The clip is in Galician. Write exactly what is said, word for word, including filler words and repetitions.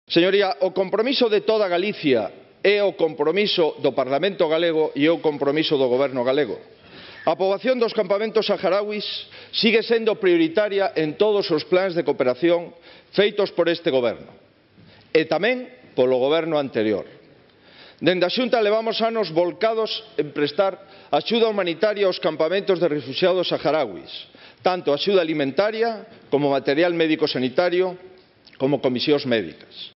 Señoría, o compromiso de toda Galicia é o compromiso do Parlamento galego e é o compromiso do Goberno galego. A poboación dos campamentos saharauis sigue sendo prioritaria en todos os plans de cooperación feitos por este Goberno e tamén polo Goberno anterior. Dende a Xunta levamos anos volcados en prestar axuda humanitaria aos campamentos de refuxiados saharauis, tanto axuda alimentaria como material médico sanitario como comisións médicas.